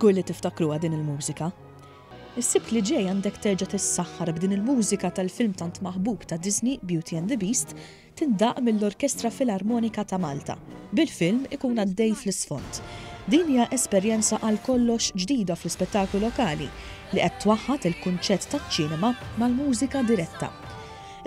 Żgur li tiftakruha din il-mużika. Is-Sibt li ġej għandek terġa' tissaħħar b'din il-mużika tal-film tant maħbub ta' Disney Beauty and the Beast tindaqq mill-Orkestra Filarmonika ta' Malta, bil-film ikun għaddej fl-isfond. Din hija esperjenza għal kollox ġdida fl-ispettaklu lokali li qed twaħħad il-kunċett taċ-ċinema mal-mużika diretta.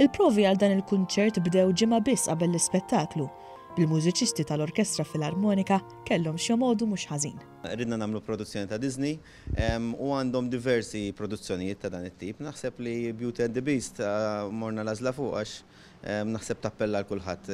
Il-provi għal dan il-kunċert bdew ġimgħa biss qabel l-ispettaklu, bil-mużiċisti tal-Orkestra Filarmonika kellhom x'jomogħdu mhux ħażin. Ridna nagħmlu produzzjoni ta' Disney u għandhom diversi produzzjonijiet ta' dan it-tip. Naħseb li Beauty and the Beast morna l-għażla fuq għax naħseb tappella għal kulħadd.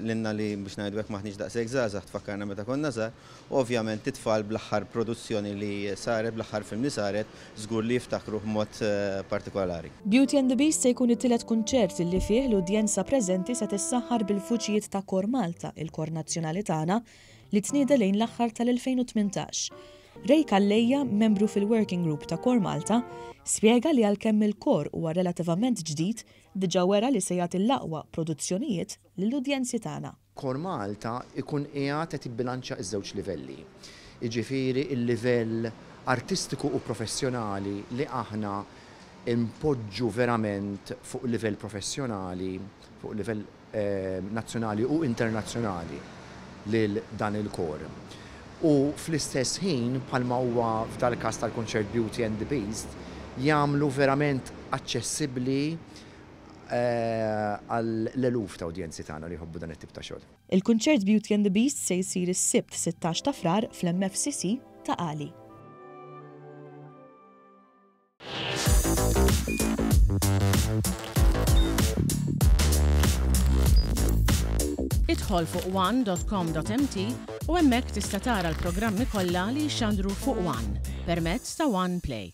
Lilna li biex ngħidu hekk m'aħniex daqshekk żgħażagħ tfakkarna meta konna żgħar u ovvjament it-tfal bl-aħħar produzzjoni li saret, bl-aħħar film li saret, żgur li jiftakruh b'mod partikolari. Beauty and the Beast se jkun it-tielet kunċert li fih l-udjenza preżenti se tissaħħar bil-vuċijiet ta' Kor Malta, il-kor nazzjonali tagħna, li tnieda lejn l-aħħar tal-2018. Ray Calleja, membru fil-Working Group ta' Kor Malta, spjega li għalkemm il-kor huwa relativament ġdid, diġà wera li se jagħti l-aqwa produzzjonijiet lill-udjenzi tagħna. Kor Malta jkun qiegħed qed jibbilanċja ż-żewġ livelli. Jiġifieri l-livell artistiku u professjonali li aħna npoġġu verament fuq livell professjonali, fuq livell nazzjonali u internazzjonali lil dan il-kor. U fl-istess ħin, bħalma huwa f'dal-każ tal-kunċert Beauty and the Beast, jagħmlu verament aċċessibbli għall-eluf ta' udjenzi tagħna li jħobbu dan it-tip ta' xogħol. Il-kunċert Beauty and the Beast se jsir is-Sibt 16 ta' Frar fl-MFCC Ta' Qali. Idħol fuq one.com.mt u hemmhekk tista' tara l-programmi kollha li jixxandru fuq One permezz ta' One Play.